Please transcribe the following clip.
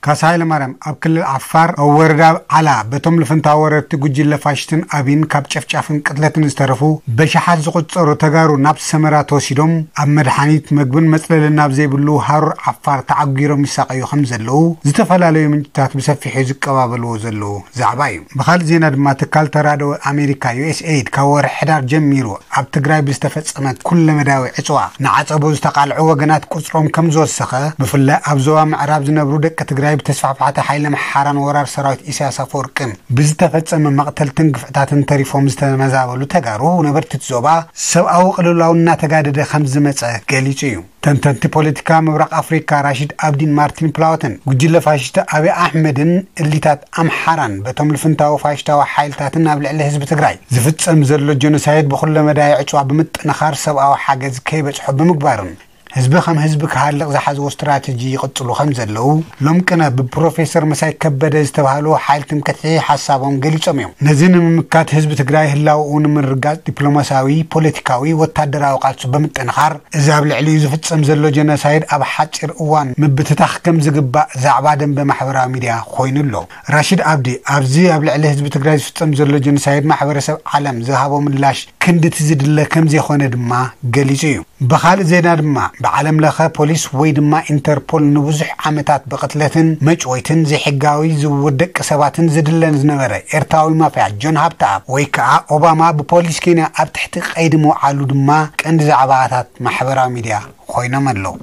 ካሳ ሃይለማርያም ኣብ ክልል ዓፋር ኣብ ወረዳ ዓላ በቶም ልፍንታ ወረርቲ ጉጅለ ፋሽስትን ኣቢን ካብ ጨፍጫፍን ቅትለትን ዝተረፉ በሽሓት ዝቑጸሩ ተጋሩ ናብ ሰመራ ተወሲዶም ኣብ መድሓኒት፣ መግብን መጽለልን ናብ ዘይብሉ ሃሩር ዓፋር ተዓጒሮም ይሳቐዩ ከም ዘለዉ ዝተፈላለዩ ምንጭታት ብሰፊሑ ዝቀባበልዎ ዘለዉ ዛዕባ እዩ። ብኻልእ ዜና ድማ ትካል ተራድኦ ኣሜሪካ ዩ ኤስ ኤይድ ካብ ወርሒ ሕዳር ጀሚሩ ኣብ ትግራይ ብዝተፈጸመ ኩለመዳያዊ ዕጽዋ ንዓጸቦ ዝተቓልዑ ወገናት ቁጽሮም ከም ዝወሰኸ፣ ብፍላይ ኣብ ዞባ ምዕራብ ዝነብሩ ደቂ ትግራይ ብተስፋሕፋሕቲ ሓይሊ ኣምሓራን ወራር ሰራዊት ኢሳያስ ኣፈወርቅን ብዝተፈጸመ መቕተልትን ግፍዕታትን ተሪፎም ዝተመዛበሉ ተጋሩ ነበርቲ እቲ ዞባ ሰብኣዊ ቅልውላው እናተጋደደ ከም ዝመጸ ገሊጹ እዩ። ተንተንቲ ፖለቲካ ምብራቕ ኣፍሪካ ራሺድ ኣብዲን ማርቲን ፕላወትን ጉጅለ ፋሽስት ኣብይ ኣሕመድን እሊታት ኣምሓራን በቶም ልፍንታዊ ፋሽስታዊ ሓይልታትን ኣብ ልዕሊ ህዝቢ ትግራይ ዝፍጸም ዘሎ ጀኖሳይድ ብኩለመዳይ ዕጽዋ ብምጥንኻር ሰብኣዊ ሓገዝ ከይበጽሖ ብምግባርን ህዝቢ ከም ህዝቢ ክሃልቕ ዝሓዝዎ ስትራተጂ ይቕጽሉ ከም ዘለዉ ሎም ቅነ ብፕሮፌሰር መሳይ ከበደ ዝተባህሉ ሓይልትን ክትሒ ሓሳቦም ገሊጾም እዮም። ነዚ ንምምካት ህዝቢ ትግራይ ህላውኡ ንምርጋጽ ዲፕሎማሲያዊ፣ ፖለቲካዊ፣ ወታደራዊ ቃልሱ ብምጥንኻር እዚ ኣብ ልዕሊኡ ዝፍጸም ዘሎ ጀኖሳይድ ኣብ ሓጺር እዋን ምብትታኽ ከም ዝግባእ ዛዕባ ደንበ ማሕበራዊ ሚድያ ኮይኑ ኣሎ። ራሺድ ኣብዲ ኣብዚ ኣብ ልዕሊ ህዝቢ ትግራይ ዝፍጸም ዘሎ ጀኖሳይድ ማሕበረሰብ ዓለም ዝሃቦ ምላሽ ክንድቲ ዝድለ ከም ዘይኮነ ድማ ገሊጹ እዩ። ብኻልእ ዜና ድማ ብዓለም ለኸ ፖሊስ ወይ ድማ ኢንተርፖል ንብዙሕ ዓመታት ብቕትለትን መጭወይትን ዘይሕጋዊ ዝውውር ደቂ ሰባትን ዝድለን ዝነበረ ኤርትራዊ ማፍያ ጆን ሃብተኣብ ወይ ከዓ ኦባማ ብፖሊስ ኬንያ ኣብ ትሕቲ ቀይዲ ምውዓሉ ድማ ቀንዲ ዛዕባታት ማሕበራዊ ሚድያ ኮይኖም ኣለዉ።